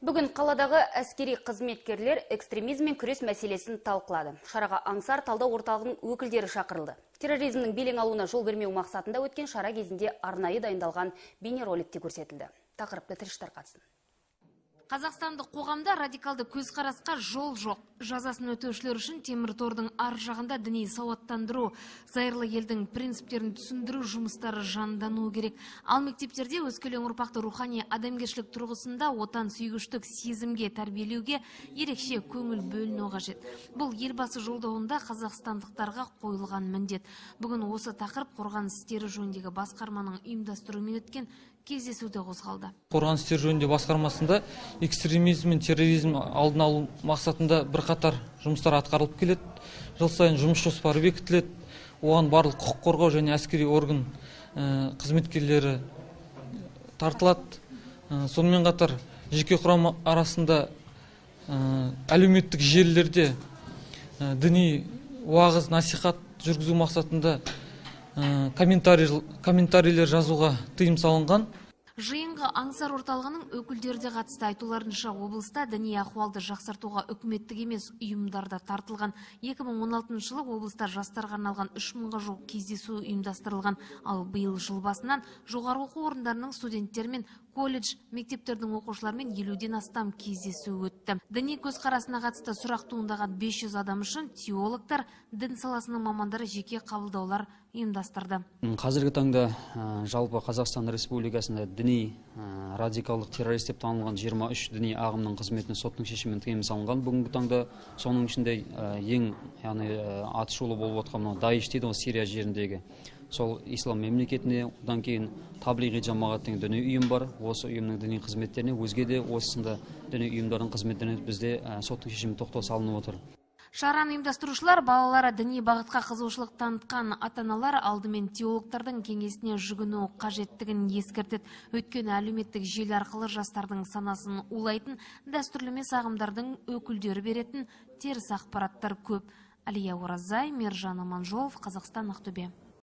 Бүгін қаладағы әскери қызметкерлер экстремизммен күрес мәселесін талқылады. Шараға Аңсар талдау орталығының өкілдері шақырылды. Терроризмнің белең алуына жол бермеу мақсатында өткен шара кезінде арнайы дайындалған бейнероликте көрсетілді. Тақырыпты тілші тарқатсын. Қазақстандық қоғамда радикалды көзқарасқа жол жоқ. Жазасын өтеушілер үшін темір тордың ар жағында діни сауаттандыру, зайырлы елдің принциптерін түсіндіру жұмыстары жандануы керек. Ал мектептерде өскелең ұрпақты рухани адамгершілік тұрғысында отан сүйгіштік сезімге тәрбиелеуге ерекше көңіл бөліну қажет. Бұл елбасы жолдауында қазақстандықтарға қойылған міндет. Бүгін осы тақырып қорғаныс істері жөніндегі басқарманың ұйымдастыруымен өткен кездесуде қозғалды. Қорғаныс істері жөніндегі басқармасында экстремизм мен терроризм алдын алу мақсатында бірқатар жұмыстар атқарылып келеді. Жыл сайын жұмыс жоспары бекітіледі. Оған барлық құқық қорғау және әскери орган қызметкерлері тартылады. Сонымен қатар жеке құрам арасында әлеуметтік желілерде діни уағыз насихат жүргізу мақсатында комментарийлер жазуға тыйым салынған. Жиынға Аңсар орталығының өкілдері де қатысты. Айтуларынша, облыста діни ахуалды жақсартуға үкіметтік емес ұйымдарда тартылған. 2016 жылы облыста жастарға арналған 3000-ға жуық кездесу ұйымдастырылған. Ал биыл жыл басынан жоғары оқу орындарының студенттермен, колледж, мектептердің оқушыларымен 50-ден астам кездесу өтті. Діни көзқарасына қатысты сұрақ туындаған 500 адам үшін теологтар, дін саласының мамандары жеке қабылдаулар ұйымдастырды. Қазіргі таңда жалпы Қазақстан Республикасында діни радикалдық террорист деп танылған 23 діни ағымның қызметіне соттың шешімімен тыйым салынған. Бүгінгі таңда соның ішінде ең атышулы болып отқан Даиш дейді, Сирия жеріндегі сол ислам мемлекетіне, одан кейін Таблиғи жамағат деген діни ұйым бар. Осы ұйымның діни қызметтеріне, өзге де осында діни ұйымдардың қызметтеріне бізде соттың шешімі тоқтау салынып отыр. Шараны ұйымдастырушылар балалары діни бағытқа қызығушылық танытқан ата-аналар алдымен теологтардың кеңесіне жүгіну қажеттігін ескертеді. Өйткені әлеуметтік желі арқылы жастардың санасын улайтын, дәстүрлі емес ағымдардың өкілдері беретін теріс ақпараттар көп. Әлия Оразай, Мержан Аманжолов, Қазақстан, Ақтөбе.